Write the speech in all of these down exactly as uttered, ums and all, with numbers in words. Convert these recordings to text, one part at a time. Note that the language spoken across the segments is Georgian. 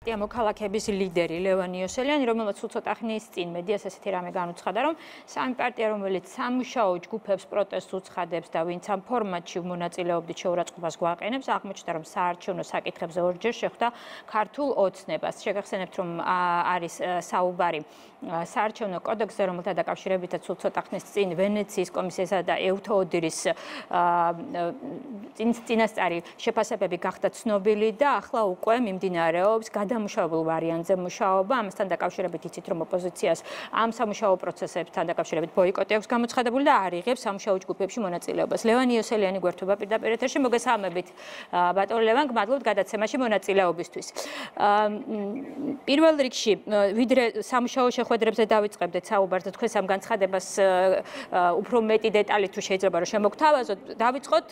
პარტია მოქალაქეების ლიდერი ლევან იოსელიანი, რომელმაც ცოტა ხნის წინ მედიას ესეთი რამე განუცხადა, რომ სამი პარტია, რომელიც სამუშაო ჯგუფებს პროტესტს უცხადებს და ვინც ამ ფორმატში მონაწილეობდით შეურაცხყოფას გვაყენებს, აღმოჩნდა, რომ საარჩევნო საკითხებზე ორჯერ შეხვდა ქართულ ოცნებას. შეგახსენებთ, რომ არის საუბარი საარჩევნო კოდექსზე, რომელთა დაკავშირებითაც ცოტა ხნის წინ ვენეციის კომისიისა და ევთოოდირის წინასწარი შეფასებები გახდა ცნობილი და ახლა უკვე მიმდინარეობს გადამუშავებულ ვარიანტზე მუშაობა. ამასთან დაკავშირებით იცით, რომ ოპოზიციას ამ სამუშაო პროცესებთან დაკავშირებით ბოიკოტი აქვს გამოცხადებული და არ იღებს სამუშაო ჯგუფებში მონაწილეობას. ლევან იოსელიანი გვერდება პირდაპირ ეთერში. მოგესალმებით, ბატონ ლევან, გმადლობთ გადაცემაში მონაწილეობისთვის. პირველ რიგში, ვიდრე სამუშაო შეხვედრებზე დავიწყებდეთ საუბარს და თქვენ სამ განცხადებას უფრო მეტი დეტალით თუ შეიძლება რომ შემოგთავაზოთ, დავიწყოთ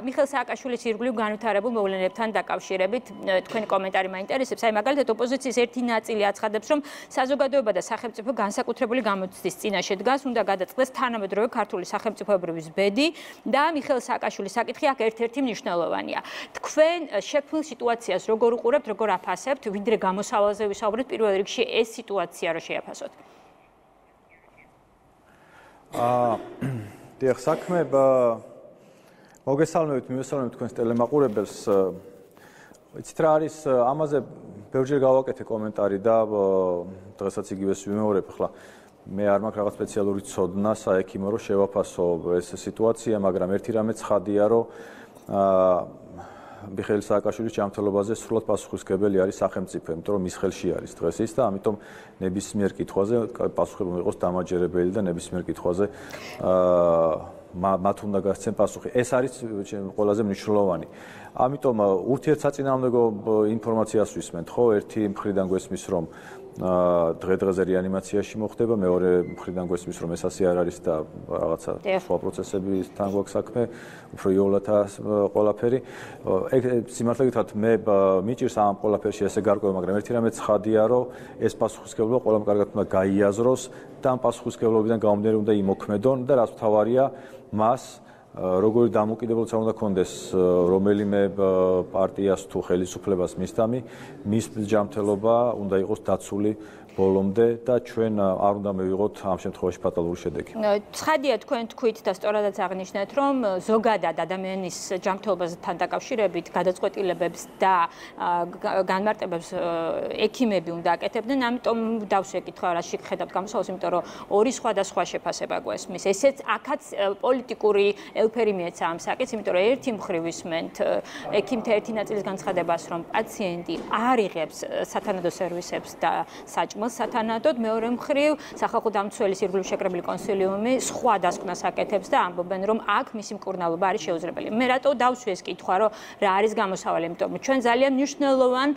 მიხეილ სააკაშვილის ირგვლივ განვითარებულ მოვლენებთან დაკავშირებით. თქვენი კომენტარი მაინტერესებს. აი მაგალითად ოპოზიციის ერთი ნაწილი აცხადებს, რომ საზოგადოება და სახელმწიფო განსაკუთრებული გამოცდის წინაშე დგას, უნდა გადაწყდეს თანამედროვე ქართული სახელმწიფოებრივი ბედი და მიხეილ სააკაშვილის საკითხი აქ ერთ-ერთი მნიშვნელოვანია. თქვენ შექმნილ სიტუაციას როგორ უყურებთ, როგორ აფასებთ, ვიდრე გამოსავალზე ვისაუბრეთ, პირველ რიგში ეს სიტუაცია რო შეაფასოთ? აა დიახ, საქმე მოგესალმებით, მივესალმებით თქვენს ტელემაყურებელს. იცით რა არის, ამაზე ბევრჯერ გავაკეთე კომენტარი და დღესაც იგივეს ვიმეორებ. ახლა მე არ მაქვს რაღაც სპეციალური ცოდნა საექიმო რომ შევაფასო ეს სიტუაცია, მაგრამ ერთი რამე ცხადია, რომ მიხეილ სააკაშვილის ჯანმრთელობაზე სრულად პასუხისმგებელი არის სახელმწიფო, იმიტომ რომ მის ხელში არის დღეს ის და ამიტომ ნებისმიერ კითხვაზე პასუხი იყოს დამაჯერებელი და ნებისმიერ კითხვაზე მათ უნდა გასცენ პასუხი. ეს არის ყველაზე მნიშვნელოვანი. ამიტომ ურთიერთსაწინააღმდეგო ინფორმაციას ვისმენთ, ხო? ერთი მხრიდან გვესმის, რომ დღე-დღეზე რეანიმაციაში მოხდება, მეორე მხრიდან გვესმის, რომ ეს ასე არ არის და რაღაცა სხვა პროცესებთან გვაქვს საქმე, უფრო იოლათა ყველაფერი. ეგ სიმართლე გითხრათ, მე მიჭირს ამ ყველაფერში ესე გარკვევა, მაგრამ ერთი რამე ცხადია, რომ ეს პასუხისმგებლობა ყველამ კარგად უნდა გაიაზროს და ამ პასუხისმგებლობიდან გამომდინარე უნდა იმოქმედონ და რაც მთავარია, მას როგორი დამოუკიდებლობა უნდა კონდეს რომელიმე პარტიას თუ ხელისუფლებას მისდამი, მის ჯანმრთელობა უნდა იყოს დაცული ბოლომდე და ჩვენ არ უნდა მივიღოთ ამ შემთხვევაში ფატალური შედეგი. ცხადია, თქვენ თქვით და სწორადაც აღნიშნეთ, რომ ზოგადად ადამიანის ჯანმრთელობასთან დაკავშირებით გადაწყვეტილებებს და განმარტებებს ექიმები უნდა აკეთებდნენ, ამიტომ დავშეკითხა რაში ხედავთ გამოსავალს, იმიტომ რომ ორი სხვადასხვა შეფასება გვესმის. ესეც აქაც პოლიტიკური ელფერი მიეცა ამ საკითხს, იმიტომ რომ ერთი მხრივ ვისმენთ ექიმთა ერთი ნაწილის განცხადებას, რომ პაციენტი არ იღებს სათანადო სერვისებს და საჭმელს სათანადოდ, მეორე მხრივ სახალხო დამცველის ირგვლივ შეკრებილი კონსილიუმი სხვა დასკვნას აკეთებს და ამბობენ, რომ აქ მისი მკურნალობა არის შეუძლებელი. მე რატო დავსვი ეს კითხვა, რომ რა არის გამოსავალი, იმიტომ რომ ჩვენ ძალიან მნიშვნელოვან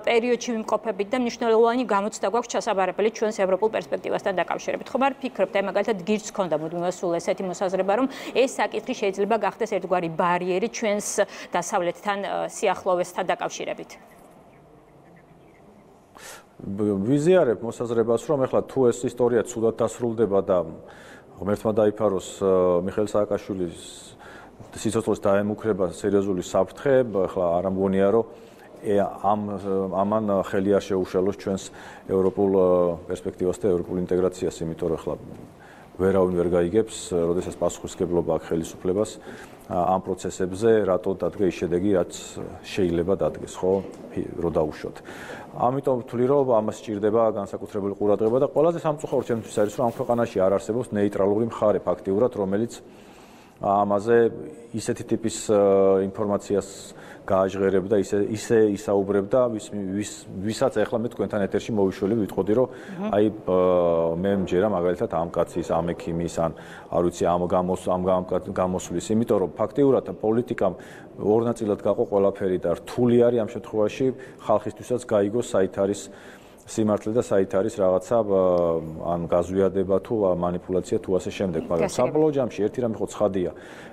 პერიოდში ვიმყოფებით და მნიშვნელოვანი გამოცდა გვაქვს ჩასაბარებელი ჩვენს ევროპულ პერსპექტივასთან დაკავშირებით. ხომ არ ფიქრობთ, აი მაგალითად გირჩ ქონდა მუდმივად სულ ესეთი მოსაზრება, რომ ეს საკითხი შეიძლება გახდეს ერთგვარი ბარიერი ჩვენს დასავლეთთან სიახლოვესთან დაკავშირებით. ვიზიარებ მოსაზრებას, რომ ეხლა თუ ეს ისტორია ცუდად დასრულდება და ღმერთმა დაიფაროს მიხეილ სააკაშვილის სიცოცხლეს დაემუქრება სერიოზული საფრთხე, ეხლა არ ამგონია, რომ ამ ამან ხელი არ შეუშალოს ჩვენს ევროპულ პერსპექტივას და ევროპულ ინტეგრაციას, იმიტომ რომ ეხლა ვერავინ ვერ გაიგებს, როდესაც პასუხისმგებლობა აქვს ხელისუფლებას ამ პროცესებზე, რატო დადგა ის შედეგი, რაც შეიძლება დადგეს, ხო, რო დაუშვოთ. ამიტომ ვთვლი, რომ ამას სჭირდება განსაკუთრებული ყურადღება და ყველაზე სამწუხაროდ ჩემთვის არის, რომ ამ ქვეყანაში არ არსებობს ნეიტრალური მხარე ფაქტიურად, რომელიც ამაზე ისეთი ტიპის ინფორმაციას გააჟღერებდა, ისე ისე ისაუბრებდა, ვის ვისაც ახლა მე თქვენთან ეთერში მოვიშველი ვიტყოდი, რომ აი მე მჯერა მაგალითად ამ კაცის, ამ ექიმის, ან არ ვიცი ამ გამოს ამ გამოსვლის, იმიტომ რომ ფაქტიურად პოლიტიკამ ორ ნაწილად გაყო ყველაფერი და რთული არის ამ შემთხვევაში ხალხისთვისაც გაიგოს საით არის სიმართლე და საით არის რაღაცა ან გაზვიადება თუ მანიპულაცია თუ ასე შემდეგ, მაგრამ საბოლოო ჯამში ერთი რამე ხო ცხადია.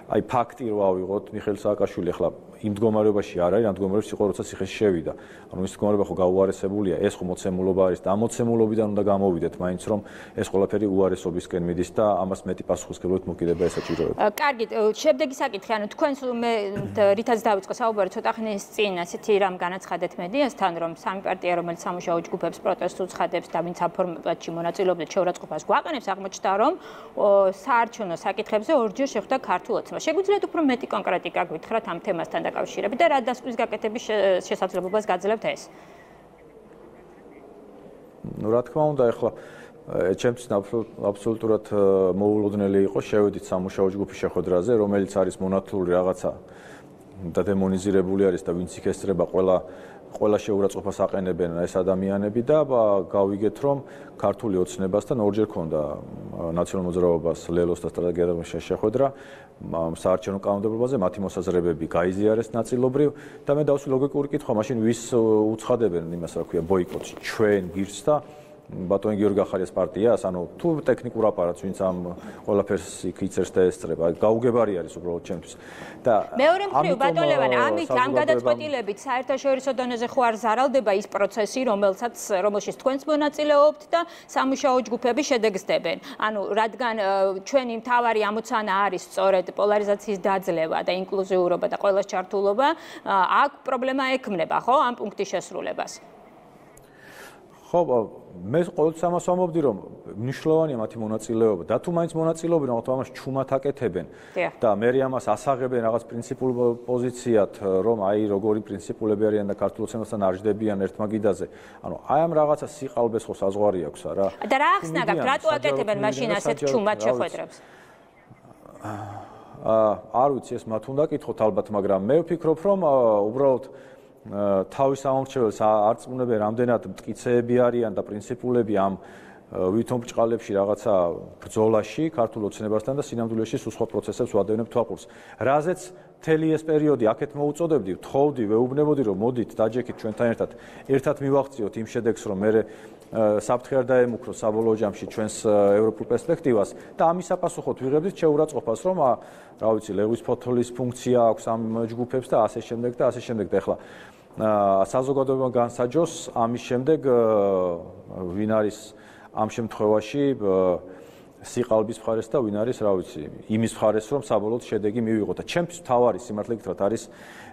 აი ფაქტი რო ავიღოთ, მიხეილ სააკაშვილი ახლა იმ მდგომარეობაში არ არის, ამ მდგომარეობაში იყო, როცა ციხეში შევიდა. ანუ ის მდგომარეობა ხო გაუარესებულია, ეს ხო მოცემულობა არის და ამ მოცემულობიდან უნდა გამოვიდეთ, მაინც რომ ეს ყველაფერი უარესობისკენ მიდის და ამას მეტი პასუხისმგებლობით მოკიდება ესაჭიროება. კარგი, შემდეგი საკითხი, ანუ თქვენს მე რითაც დავიწყო საუბარი ცოტა ხნის წინ, ასეთი რამ განაცხადეთ მედიასთან, რომ სამი პარტია, რომელიც სამუშაო ჯგუფებს პროტესტს უცხადებს და ვინც აფორმებაში მონაწილეობდნენ შეურაცხყოფას გვაყენებს, აღმოჩნდა, რომ საარჩევნო საკითხებზე ორჯერ შეხვდა ქართულ ოცნება. შეგვიძლიათ უფრო მეტი კონკრეტიკა გითხრათ ამ თემასთან დაკავშირებით და რა დასკვნის გაკეთების შესაძლებლობას გაძლევთ ეს? ну რა თქმა უნდა, ეხლა ჩემთვის აბსოლუტურად მოულოდნელი იყო შევედით სამუშაო ჯგუფის შეხვედრაზე, რომელიც არის მონათლული რაღაცა და დემონიზირებული არის და ვინც იქ ესწრება ყველა ყველა შეურაცხყოფას აყენებენ ეს ადამიანები და გავიგეთ რომ ქართული ოცნებასთან ორჯერ ქონდა ნაციონალურ მოძრაობას ლელოს და სტრატეგიების შეხვედრა საარჩევნო კანონმდებლობაზე მათი მოსაზრებები გაიზიარეს ნაწილობრივ და მე დავსვი ლოგიკური კითხვა მაშინ ვის უცხადებენ იმას რა ქვია ბოიკოტს ჩვენ გირს და ბატონ გიორგი ახალიას პარტიას, ანუ თუ ტექნიკურ აპარატს, ვინც ამ ყველაფერს იქ იწერს და ესწრება, გაუგებარი არის უბრალოდ ჩემთვის. და მეორე მხრივ, ბატონ ლევან, ამით ამ გადაწყვეტილებით საერთაშორისო დონეზე ხო არ ზარალდება ის პროცესი, რომელსაც რომელშიც თქვენს მონაწილეობთ და სამუშაო ჯგუფები შედეგსდებენ. ანუ რადგან ჩვენი მთავარი ამოცანა არის სწორედ პოლარიზაციის დაძლევა და ინკლუზიურობა და ყველას ჩართულობა, აქ პრობლემა ექმნება, ხო, ამ პუნქტის შესრულებას. ხო, მე ყოველთვის ამას ვამბობდი, რომ მნიშვნელოვანია მათი მონაწილეობა და თუ მაინც მონაწილეობენ, მაგრამ ამას ჩუმად აკეთებენ და მე ამას ასაღებენ რაღაც პრინციპულ პოზიციად, რომ აი როგორი პრინციპულები არიან და ქართულ ოცნებასთან არ ჯდებიან ერთ მაგიდაზე. ანუ აი ამ რაღაცა სიყალბეს ხო საზღვარი აქვს არა? და რა ახსნა გაქვთ, რატო აკეთებენ მაშინ ასეთ ჩუმად შეხვედრებს? აა არ ვიცი, ეს მათ უნდა კითხოთ ალბათ, მაგრამ მე ვფიქრობ, რომ უბრალოდ თავის ამორჩეველს არწმუნებენ რამდენად მტკიცეები არიან და პრინციპულები ამ ვითომ ბრჭყალებში რაღაცა ბრძოლაში ქართულ ოცნებასთან და სინამდვილეში სულ სხვა პროცესებს ვადევნებ თვალყურს. რაზეც მთელი ეს პერიოდი აქეთ მოუწოდებდი, ვთხოვდი, ვეუბნებოდი, რომ მოდით დაჯექით ჩვენთან ერთად, ერთად მივაღწიოთ იმ შედეგს, რომ მე საფრთხე არ დაემუქროს საბოლოო ჯამში ჩვენს ევროპულ პერსპექტივას და ამის საპასუხოდ ვიღებდით შეურაცხყოფას, რომ რა ვიცი, ლევის ფოთოლის ფუნქცია აქვს ამ ჯგუფებს და ასე შემდეგ და ასე შემდეგ და ეხლა საზოგადოება განსაჯოს ამის შემდეგ ვინ არის ამ შემთხვევაში სიყალბის მხარეს და ვინ არის, რა ვიცი, იმის მხარეს, რომ საბოლოოდ შედეგი მივიღოთ და ჩემთვის თავარი სიმართლე გითხრათ არის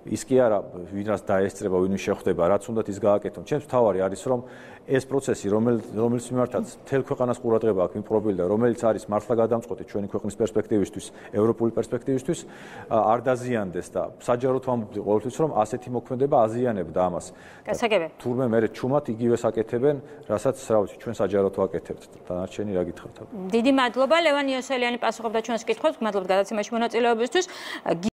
ის კი არა ვინაც დაესწრება, ვინ შეხვდება, რაც უნდათ ის გააკეთონ. ჩემთვის თავარი არის, რომ ეს პროცესი, რომელიც მიმართაც მთელ ქვეყანას ყურადღება აქვს მიპყრობილი და რომელიც არის მართლა გადამწყვეტი ჩვენი ქვეყნის პერსპექტივისთვის, ევროპული პერსპექტივისთვის, არ დაზიანდეს და საჯაროდ ვამბობდი ყოველთვის, რომ ასეთი მოქმედება აზიანებდა ამას. გასაგები. თურმე მე ჩუმად იგივეს აკეთებენ, რასაც რა ვიცი, ჩვენ საჯაროდ ვაკეთებთ. დანარჩენი რა გითხრათ? დიდი მადლობა, ლევან იოსელიანი პასუხობდა ჩვენს კითხვებს, გმადლობთ გადაცემაში მონაწილეობისთვის.